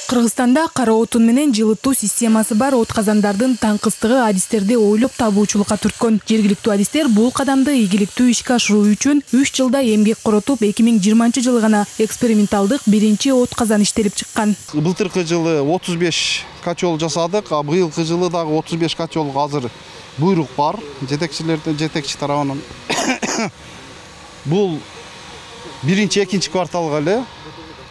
Кыргызстанда кара отун менен жылытуу системасы бар отказандардын таңкыстыгы адистерди ойлоп табуучулукка түрткөн. Жергиликтүү адистер бул кадамды ийгиликтүү ишке ашыруу үчүн 3 жылда эмгек коротуп, 2020 жылы гана эксперименталдык биринчи отказан иштелип чыккан. Былтыркы жылы 35 качол жасадык, а быйылкы жылы дагы 35 качолго азыр буйрук бар жетекчи тарабынан. Бул биринчи, экинчи кварталга эле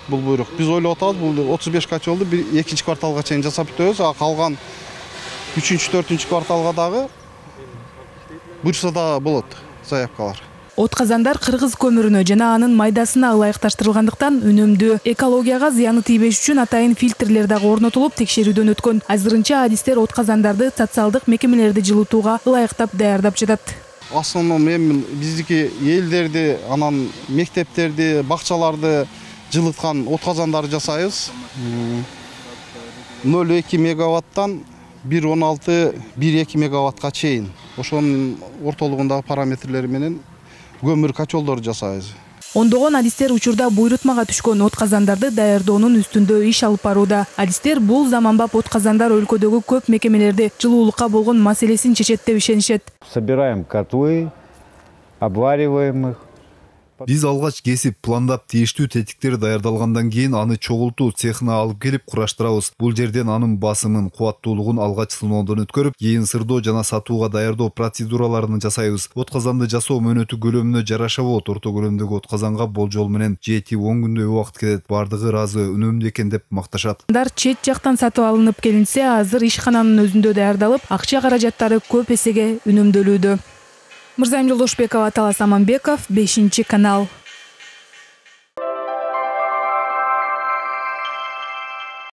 бул буйрук. Биз ойлоп атабыз, бул 35 качолду экинчи кварталга чейин жасап бүтөбүз, а калган 3-4 кварталга дагы буйрса да болот заявкалар. Отказандар кыргыз көмүрүнө жана анын майдасына ылайыкташтырылгандыктан үнөмдүү, экологияга зыяны тийбеш үчүн атайын фильтрлер дагы орнотулуп текшерүүдөн өткөн. Азырынча адистер отказандарды социалдык мекемелерди жылытууга ылайыктап даярдап жатат. Основном эми биздики элдерди, анан мектептерди, бакчаларды жылыткан отказандарды жасайбыз. 0,2 мегаваттан 1,16-1,2 мегаваттка чейин. Ошонун ортолугундагы параметрлери менен көмүр качолдорду жасайбыз. Ондогон адистер учурда буйрутмага түшкөн отказандарды даярдоонун үстүндө иш алып барууда. Адистер бул заманбап отказандар өлкөдөгү көп мекемелерди жылуулукка болгон маселесин чечет деп ишенишет. Собираем котлы, обвариваем их. Биз алгач кесип, пландап, тийиштүү тетиктер даярдалгандан кийин аны чогултуу цехына алып келип кураштырабыз. Бул жерден анын басымын, кубаттуулугун алгач сыноодон өткөрүп, кийин сырдоо жана сатууга даярдоо процедураларын жасайбыз. Отказанды жасоо мөөнөтү көлөмүнө жараша болот. Орто көлөмдөгү отказанга болжол менен 7-10 күндөй убакыт кетет. Бардыгы ыраазы, үнөмдүү экен деп макташат. Чет жактан сатып алынып келинсе, азыр ишкананын өзүндө даярдалып, акча каражаттары көп эсеге үнөмдөлүүдө. Мырзайым Жолдошбекова, Талас Аманбеков, 5 канал.